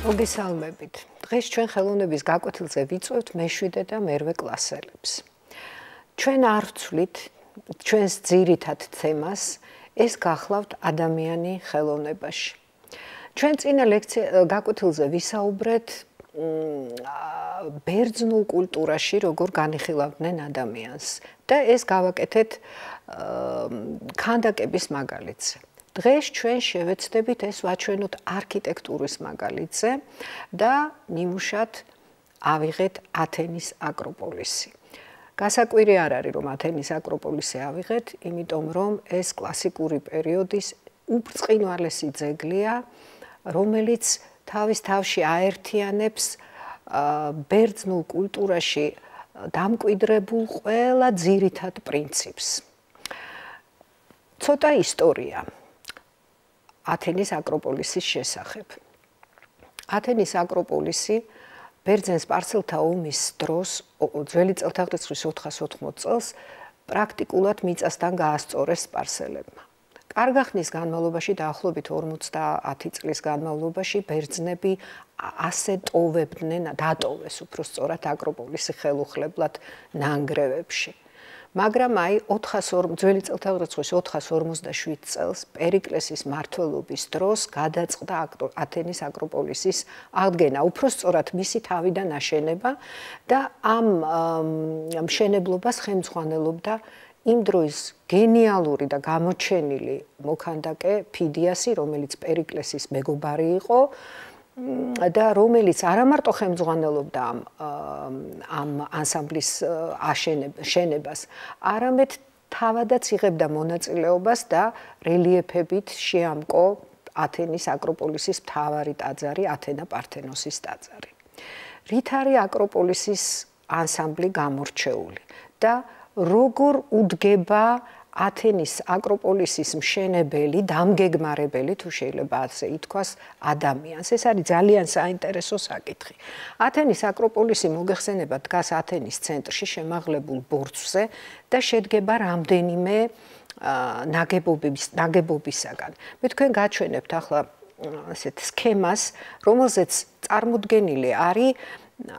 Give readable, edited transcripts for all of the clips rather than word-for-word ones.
მოგესალმებით. დღეს ჩვენ ხელოვნების გაკვეთილზე ვიწვევთ მე-7 და მე-8 კლასელებს. ჩვენ არ ვცვლით ჩვენს ძირითად თემას, ეს გახლავთ ადამიანი ხელოვნებაში. ჩვენ წინა გაკვეთილზე ვისაუბრეთ ბერძნულ კულტურაში როგორ განიხილავდნენ ადამიანს და ეს გავაკეთეთ ქანდაკების მაგალითზე. დღეს ჩვენ შევეცდებით ეს ვაჩვენოთ არქიტექტურის მაგალითზე და ნიმუშად ავიღეთ ათენის აკროპოლისი. გასაკვირი არ არის რომ ათენის აკროპოლისი ავიღეთ, იმიტომ რომ ეს კლასიკური პერიოდის უბრწყინვალესი ძეგლია, რომელიც თავის თავში აერთიანებს ბერძნულ კულტურაში დამკვიდრებულ ყველა ძირითად პრინციპს. ცოტა ისტორია ათენის აკროპოლისის შესახებ. ათენის აკროპოლისი ბერძენ-სპარსელთა ომის დროს, ძველი წელთაღრიცხვის 480 წელს, პრაქტიკულად მიწასთან გაასწორეს სპარსელებმა. კარგა ხნის განმავლობაში, დაახლოებით 50 წლის განმავლობაში, ბერძნები ასე ტოვებდნენ, დატოვეს უფრო სწორად აკროპოლისი ხელუხლებლად ნანგრევებში. მაგრამ აი ძველი წელთაღრიცხვის 457 წელს პერიკლესის მმართველობის დროს გადაწყდა ათენის აკროპოლისის აღდგენა, უფრო სწორად მისი თავიდან აშენება და ამ მშენებლობას ხელმძღვანელობდა იმ დროის გენიალური და გამოჩენილი მოქანდაკე ფიდიასი, რომელიც პერიკლესის მეგობარი იყო და რომელიც არა მარტო ხელმძღვანელობდა ამ ანსამბლის შენებას, არამედ თავადაც იღებდა მონაწილეობას და რელიეფებით შეამკო ათენის აკროპოლისის მთავარი ტაძარი, ათენა პართენოსის ტაძარი. რით არის აკროპოლისის ანსამბლი გამორჩეული და როგორ უდგება ათენის აკროპოლისის მშენებელი, დამგეგმარებელი, თუ შეიძლება ასე ითქვას, ადამიანს. ეს არის ძალიან საინტერესო საკითხი. ათენის აკროპოლისი მოგეხსენება დგას ათენის ცენტრში შემაღლებულ ბორცვზე და შედგება რამდენიმე ნაგებობისაგან. მე თქვენ გაჩვენებთ ახლა ასეთ სქემას, რომელზეც წარმოდგენილი არის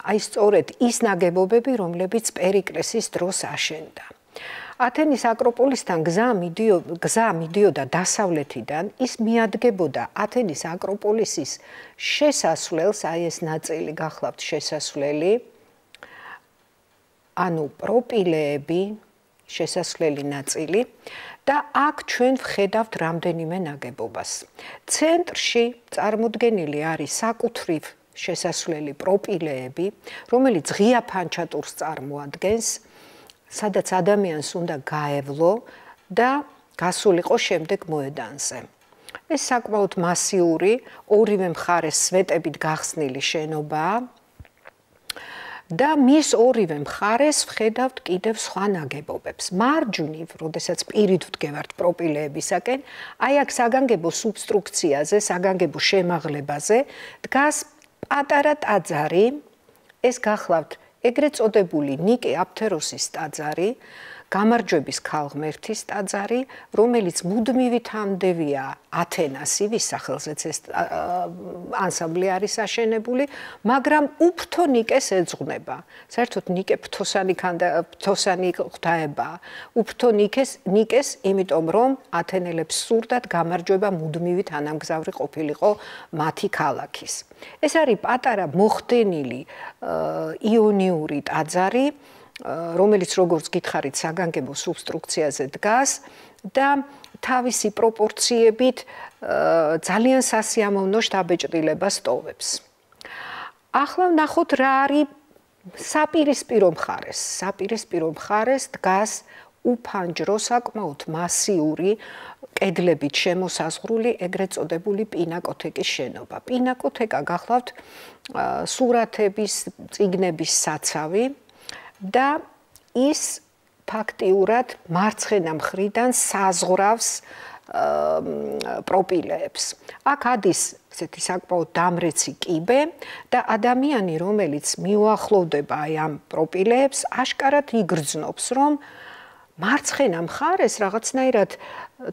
აი სწორედ ის ნაგებობები, რომლებიც პერიკლესის დროს აშენდა. ათენის აკროპოლისთან გზა მიდიოდა დასავლეთიდან, ის მიადგებოდა ათენის აკროპოლისის შესასვლელს, აი ეს ნაწილი გახლავთ შესასვლელი, ანუ პროპილეები, შესასვლელი ნაწილი და აქ ჩვენ ვხედავთ რამდენიმე ნაგებობას. ცენტრში წარმოდგენილი არის საკუთრივ შესასვლელი პროპილეები, რომელიც ღია ფანჩატურს წარმოადგენს, სადაც ადამიანს უნდა გაევლო და გასულიყო შემდეგ მოედანზე. ეს საკმაოდ მასიური, ორივე მხარეს სვეტებით გახსნილი შენობაა და მის ორივე მხარეს ვხედავთ კიდევ სხვა ნაგებობებს. მარჯვნივ, როდესაც პირით ვდგევართ პროპილეებისაკენ, აი აქ საგანგებო სუბსტრუქციაზე, საგანგებო შემაღლებაზე დგას პატარა ტაძარი, ეს გახლავთ ეგრეთ წოდებული ნიკე აფთეროსის ტაძარი, გამარჯვების ქალღმერთის ტაძარი, რომელიც მუდმივი თანმდევია ათენასი, ვის სახელზეც ეს ანსამბლი არის აშენებული, მაგრამ უფრთო ნიკეს ეძღვნება. საერთოდ ნიკე ფთოსანი ღვთაებაა. უფრთო ნიკეს, იმიტომ რომ ათენელებს სურდათ გამარჯვება მუდმივი თანამგზავრი ყოფილიყო მათი ქალაქის. ეს არის პატარა მოხდენილი იონიური ტაძარი, რომელიც როგორც გითხარით საგანგებო სუბსტრუქციაზე დგას და თავისი პროპორციებით ძალიან სასიამოვნო შთაბეჭდილებას ტოვებს. ახლა ვნახოთ რა არის საპირისპირო მხარეს. საპირისპირო მხარეს დგას უფანჯრო, საკმაოდ მასიური, კედლებით შემოსაზღვრული ეგრეთ წოდებული პინაკოთეკის შენობა. პინაკოთეკა გახლავთ სურათების, წიგნების საცავი და ის ფაქტიურად მარცხენა მხრიდან საზღვრავს პროპილეებს. აქ ადის ესეთი საკმაოდ დამრეცი კიბე და ადამიანი, რომელიც მიუახლოვდება აი ამ პროპილეებს, აშკარად იგრძნობს, რომ მარცხენა მხარეს რაღაცნაირად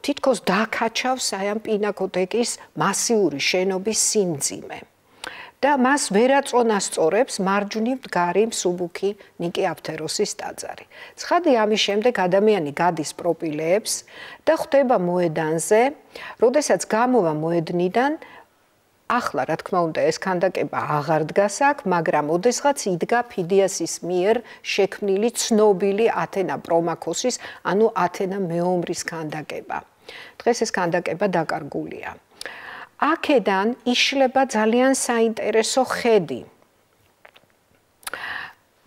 თითქოს დაკაჩავს აი ამ პინაკოტეკის მასიური შენობის სიმძიმე. და მას ვერაწონასწორებს მარჯვნივ მდგარი მსუბუქი ნიკი აფთეროსის ტაძარი. ცხადი ამის შემდეგ ადამიანი გადის პროპილეებს და ხვდება მოედანზე, როდესაც გამოვა მოედნიდან, ახლა რა თქმა უნდა ეს ქანდაკება აღარ დგას აქ, მაგრამ ოდესღაც იდგა ფიდიასის მიერ შექმნილი ცნობილი ათენა პრომაქოსის, ანუ ათენა მეომრის ქანდაკება. დღეს ეს ქანდაკება დაკარგულია. აქედან იშლება ძალიან საინტერესო ხედი.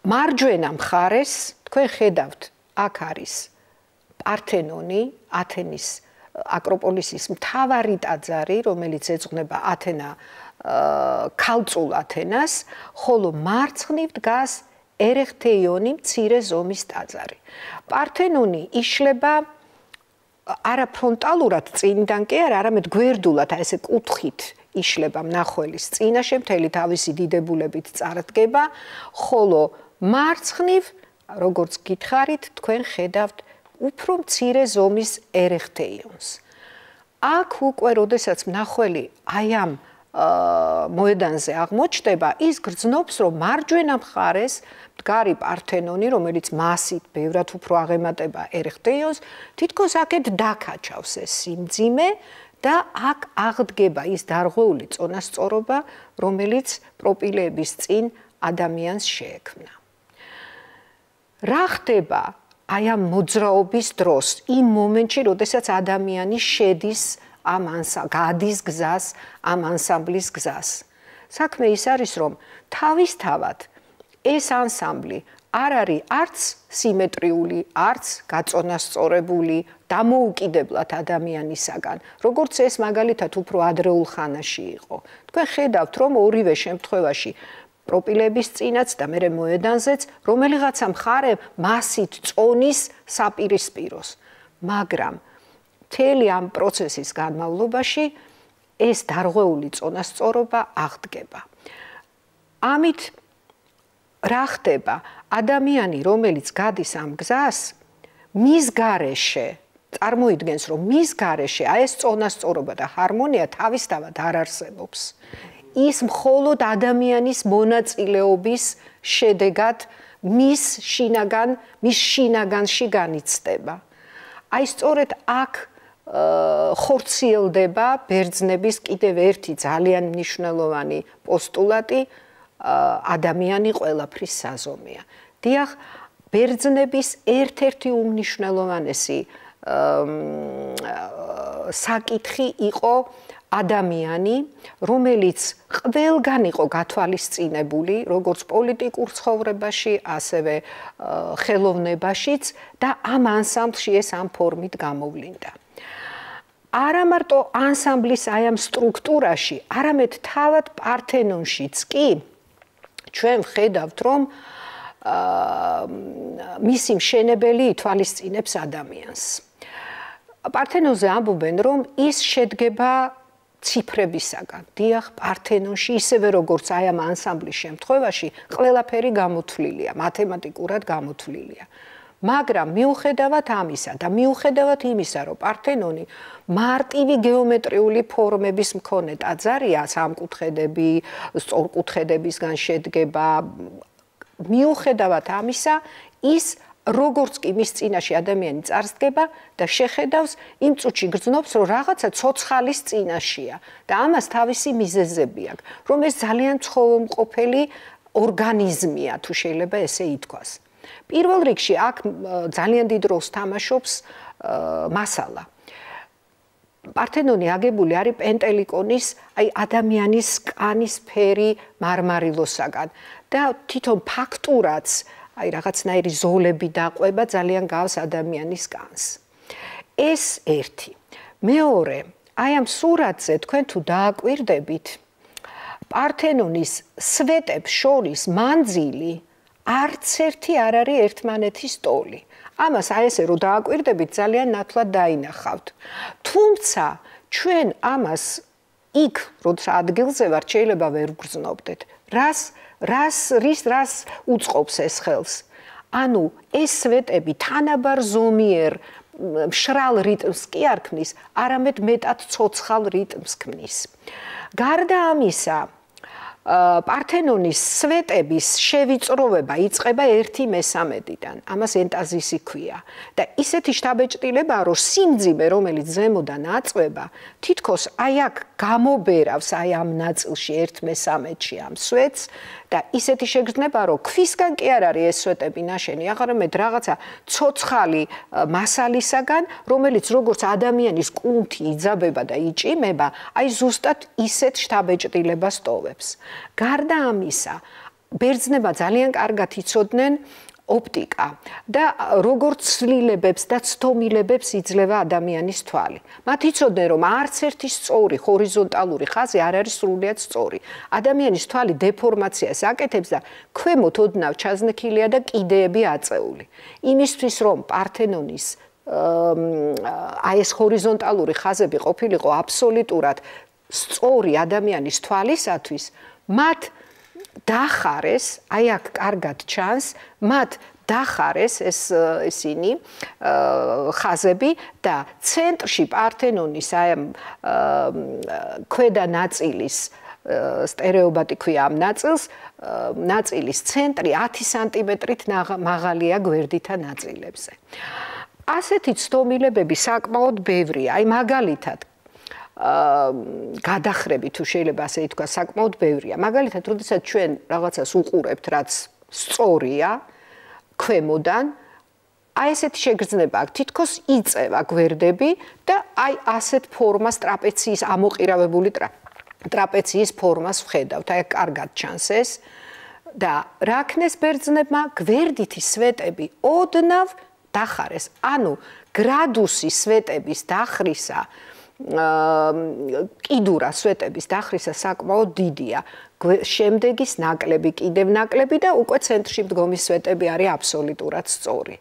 მარჯვენა მხარეს თქვენ ხედავთ, აქ არის პართენონი, ათენის აკროპოლისის მთავარი ტაძარი, რომელიც ეძღვნება ქალწულ ათენას, ხოლო მარცხნივ დგას ერეხთეიონი მცირე ზომის ტაძარი. პართენონი იშლება არა ფრონტალურად წინიდან კი არა, არამედ გვერდულად, ესე კუთხით იშლება მნახველის წინაშე, მთელი თავისი დიდებულებით წარდგება, ხოლო მარცხნივ, როგორც გითხარით, თქვენ ხედავთ უფრო მცირე ზომის ერეხთეიონს. აქ უკვე, როდესაც მნახველი აი ამ მოედანზე აღმოჩნდება, ის გრძნობს, რომ მარჯვენა მხარეს მდგარი პართენონი, რომელიც მასით ბევრად უფრო აღემატება ერეხთეიონს, თითქოს აქეთ დაკაჩავს ეს სიმძიმე და აქ აღდგება ის დარღვეული წონასწორობა, რომელიც პროპილეების წინ ადამიანს შეექმნა. რა ხდება აი ამ მოძრაობის დროს, იმ მომენტში, როდესაც ადამიანი შედის გადის გზას, ამ ანსამბლის გზას. საქმე ის არის, რომ თავისთავად ეს ანსამბლი არ არის არც სიმეტრიული, არც გაწონასწორებული, დამოუკიდებლად ადამიანისაგან, როგორც ეს მაგალითად უფრო ადრეულ ხანაში იყო. თქვენ ხედავთ, რომ ორივე შემთხვევაში პროპილეების წინაც და მერე მოედანზეც რომელიღაცა მხარე მასით წონის საპირისპიროს, მაგრამ მთელი ამ პროცესის განმავლობაში ეს დარღვეული წონასწორობა აღდგება. ამით რა ხდება? ადამიანი, რომელიც გადის ამ გზას, მის გარეშე, წარმოიდგენს, რომ მის გარეშე აი ეს წონასწორობა და ჰარმონია თავისთავად არ არსებობს. ის მხოლოდ ადამიანის მონაწილეობის შედეგად მის შინაგანში განიცდება. აი სწორედ აქ ხორციელდება ბერძნების კიდევ ერთი ძალიან მნიშვნელოვანი პოსტულატი, ადამიანი ყველაფრის საზომია. დიახ, ბერძნების ერთ-ერთი უმნიშვნელოვანესი საკითხი იყო ადამიანი, რომელიც ყველგან იყო გათვალისწინებული, როგორც პოლიტიკურ ცხოვრებაში, ასევე ხელოვნებაშიც და ამ ანსამბლში ეს ამ ფორმით გამოვლინდა. არა მარტო ანსამბლის აი ამ სტრუქტურაში, არამედ თავად პართენონშიც კი ჩვენ ვხედავთ, რომ მისი მშენებელი ითვალისწინებს ადამიანს. პართენონზე ამბობენ, რომ ის შედგება ციფრებისაგან. დიახ, პართენონში ისევე როგორც აი ამ ანსამბლის შემთხვევაში, ყველაფერი გამოთვლილია, მათემატიკურად გამოთვლილია. მაგრამ მიუხედავად ამისა და მიუხედავად იმისა, რომ პართენონი მარტივი გეომეტრიული ფორმების მქონე ტაძარია, სამკუთხედები, სწორკუთხედებისგან შედგება, მიუხედავად ამისა, ის როგორც კი მის წინაშე ადამიანი წარსდგება და შეხედავს, იმ წუთში გრძნობს, რომ რაღაცა ცოცხალის წინაშია და ამას თავისი მიზეზები აქვს, რომ ეს ძალიან ცხოველმყოფელი ორგანიზმია, თუ შეიძლება ესე ითქვას. პირველ რიგში აქ ძალიან დიდ როლს თამაშობს მასალა. პართენონი აგებული არის პენტელიკონის, აი ადამიანის კანის ფერი მარმარილოსაგან და თვითონ ფაქტურაც აი რაღაცნაირი ზოლები დაყვება ძალიან გავს ადამიანის კანს. ეს ერთი. მეორე, აი ამ სურათზე თქვენ თუ დააკვირდებით, პართენონის სვეტებს შორის მანძილი არც ერთი არ არის ერთმანეთის ტოლი. ამას აი ესე რომ დააკვირდებით ძალიან ნათლად დაინახავთ. თუმცა ჩვენ ამას იქ როცა ადგილზე ვართ შეიძლება ვერ ვგრძნობდეთ. რას უწყობს ეს ხელს? ანუ ეს სვეტები თანაბარ ზომიერ მშრალ რიტმს კი არ ქმნის, არამედ მეტად ცოცხალ რიტმს ქმნის. გარდა ამისა, პართენონის სვეტების შევიწროვება იწყება 1/3-დან. ამას ენტაზისი ქვია. და ისეთი შთაბეჭდილება, რომ სიმძიმე, რომელიც ზემოდან აწვება, თითქოს აი აქ გამობერავს აი ამ ნაწილში 1/3-ში ამ სვეტს და ისეთი შეგრძნება, რომ ქვისგან კი არ არის ეს სვეტები ნაშენი, არამედ რაღაცა ცოცხალი მასალისაგან, რომელიც როგორც ადამიანის კუნთი იძაბება და იჭიმება, აი ზუსტად ისეთ შთაბეჭდილებას ტოვებს. გარდა ამისა, ბერძნებმა ძალიან კარგად იცოდნენ ოპტიკა და როგორც ცვლილებებს და ცდომილებებს იძლევა ადამიანის თვალი. მათ იცოდნენ, რომ არც ერთი სწორი ჰორიზონტალური ხაზი არ არის სრულიად სწორი. ადამიანის თვალი დეფორმაციას აკეთებს და ქვემოთ ოდნავ ჩაზნექილია და კიდეები აწეული. იმისთვის, რომ პართენონის აი ეს ჰორიზონტალური ხაზები ყოფილიყო აბსოლუტურად სწორი ადამიანის თვალისათვის, მათ დახარეს, აი აქ კარგად ჩანს, მათ დახარეს ესენი ხაზები და ცენტრში პართენონის აი ქვედა ნაწილის სტერეობატი ქვია ამ ნაწილის ცენტრი 10 სანტიმეტრით მაღალია გვერდითა ნაწილებზე. ასეთი ცდომილებები საკმაოდ ბევრია, აი მაგალითად გადახრები თუ შეიძლება ასე ითქვა საკმაოდ ბევრია. მაგალითად, როდესაც ჩვენ რაღაცას უყურებთ, რაც სწორია ქვემოდან, აი ესეთი შეგრძნება აქვს, თითქოს იწევა გვერდები და აი ასეთ ფორმას ტრაპეციის ამოყირავებული ტრაპეციის ფორმას ვხედავთ. აი კარგად ჩანს ეს და რა ქნეს ბერძნებმა? გვერდითი სვეტები ოდნავ დახარეს. ანუ გრადუსი სვეტების დახრისა კიდურა სვეტების დახრისა საკმაოდ დიდია. შემდეგის ნაკლები, კიდევ ნაკლები და უკვე ცენტრში მდგომი სვეტები არის აბსოლუტურად სწორი.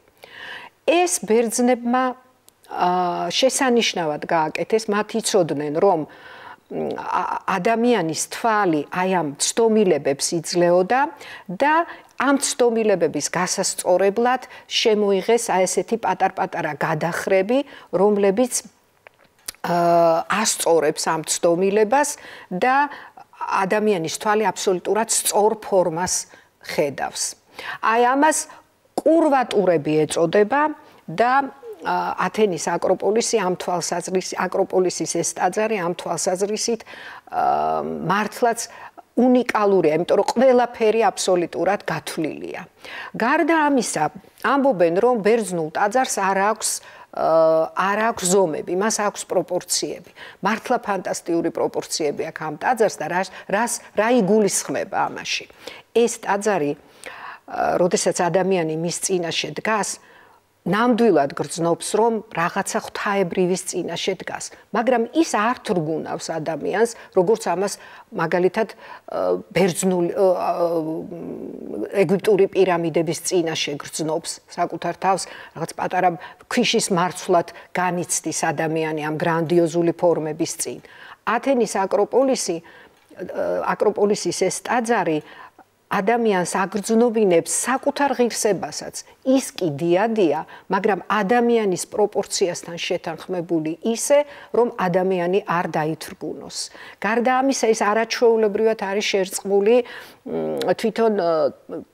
ეს ბერძნებმა შესანიშნავად გააკეთეს, მათ იცოდნენ, რომ ადამიანის თვალი აი ამ ცდომილებებს იძლეოდა და ამ ცდომილებების გასასწორებლად შემოიღეს აი ესეთი პატარ-პატარა გადახრები, რომლებიც ასწორებს ამ ცდომილებას და ადამიანის თვალი აბსოლუტურად სწორ ფორმას ხედავს. აი ამას კურვატურები ეწოდება და ათენის აკროპოლისი ამ თვალსაზრისით, აკროპოლისის ეს ტაძარი ამ თვალსაზრისით მართლაც უნიკალურია, იმიტომ რომ ყველაფერი აბსოლუტურად გათვლილია. გარდა ამისა, ამბობენ, რომ ბერძნულ ტაძარს არ აქვს ზომები, მას აქვს პროპორციები. მართლა ფანტასტიკური პროპორციები აქვს ამ ტაძარს და რა იგულისხმება ამაში. ეს ტაძარი, როდესაც ადამიანი მის წინაშე დგას, ნამდვილად გრძნობს, რომ რაღაცა ღვთაებრივის წინაშე დგას, მაგრამ ის არ თრგუნავს ადამიანს, როგორც ამას მაგალითად ბერძნული ეგვიპტური პირამიდების წინაშე გრძნობს საკუთარ თავს, რაღაც პატარა ქვიშის მარცვლად განიცდის ადამიანი ამ გრანდიოზული ფორმების წინ. ათენის აკროპოლისის ეს ტაძარი ადამიანს აგრძნობინებს საკუთარ ღირსებასაც. ის კი დიადია, მაგრამ ადამიანის პროპორციასთან შეთანხმებული ისე, რომ ადამიანი არ დაითრგუნოს. გარდა ამისა, ის არაჩვეულებრივად არის შერწყმული თვითონ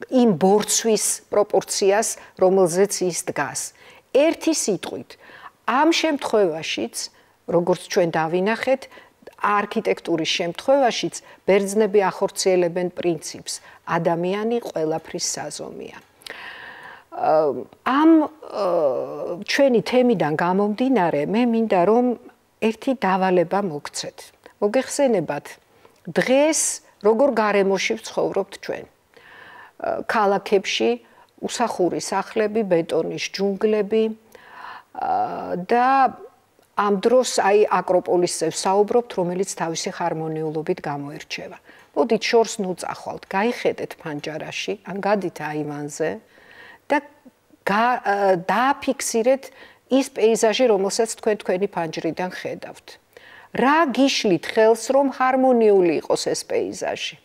იმ ბორცვის პროპორციას, რომელზეც ის დგას. ერთი სიტყვით, ამ შემთხვევაშიც, როგორც ჩვენ დავინახეთ, არქიტექტურის შემთხვევაშიც ბერძნები ახორციელებენ პრინციპს ადამიანი ყველაფრის საზომია. ამ ჩვენი თემიდან გამომდინარე, მე მინდა რომ ერთი დავალება მოგცეთ. მოგეხსენებათ, დღეს როგორ გარემოში ვცხოვრობთ ჩვენ. ქალაქებში უსახური სახლები, ბეტონის ჯუნგლები და ამ დროს აი აკროპოლისზე ვსაუბრობთ, რომელიც თავისი ხარმონიულობით გამოირჩევა. მოდით შორს ნუწახვალთ, გაიხედეთ ფანჯარაში, ან გადით აივანზე და დააფიქსირეთ ის პეიზაჟი, რომელსაც თქვენ თქვენი ფანჯრიდან ხედავთ. რა გიშლით ხელს, რომ ჰარმონიული იყოს ეს პეიზაჟი?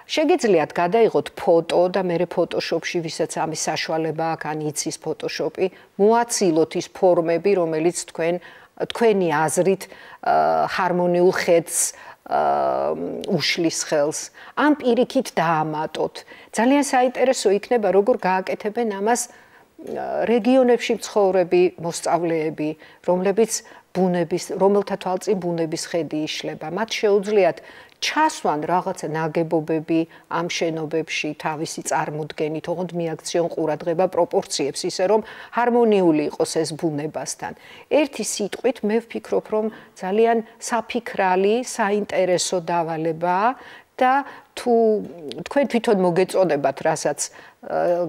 შეგიძლიათ გადაიღოთ ფოტო და მე ფოტოშოპში, ვისაც ამის საშუალება აქვს, ან იცის ფოტოშოპი, მოაცილოთ ის ფორმები, რომელიც თქვენი აზრით ჰარმონიულ ხედს უშლის ხელს. ამ პირიქით დაამატოთ. ძალიან საინტერესო იქნება, როგორ გააკეთებენ ამას რეგიონებში მცხოვრები მოსწავლეები, რომელთა თვალწინ ბუნების ხედი იშლება. მათ შეუძლიათ ჩასვან რაღაცა ნაგებობები ამ შენობებში თავისი წარმოდგენით, ოღონდ მიაქციონ ყურადღება პროპორციებს, ისე რომ ჰარმონიული იყოს ეს ბუნებასთან. ერთი სიტყვით მე ვფიქრობ, რომ ძალიან საფიქრალი, საინტერესო დავალებაა და თუ თქვენ თვითონ მოგეწოდებათ, რასაც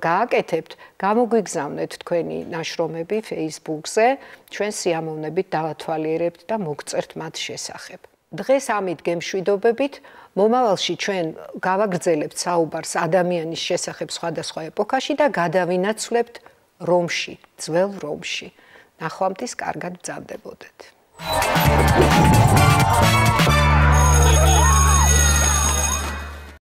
გააკეთებთ, გამოგვიგზავნეთ თქვენი ნაშრომები Facebook-ზე, ჩვენ სიამოვნებით დავათვალიერებთ და მოგწერთ მათ შესახებ. დღეს ამით გემშვიდობებით, მომავალში ჩვენ გავაგრძელებთ საუბარს ადამიანის შესახებ სხვადასხვა ეპოქაში და გადავინაცვლებთ რომში, ძველ რომში. ნახვამდის კარგად ბრძანდებოდეთ.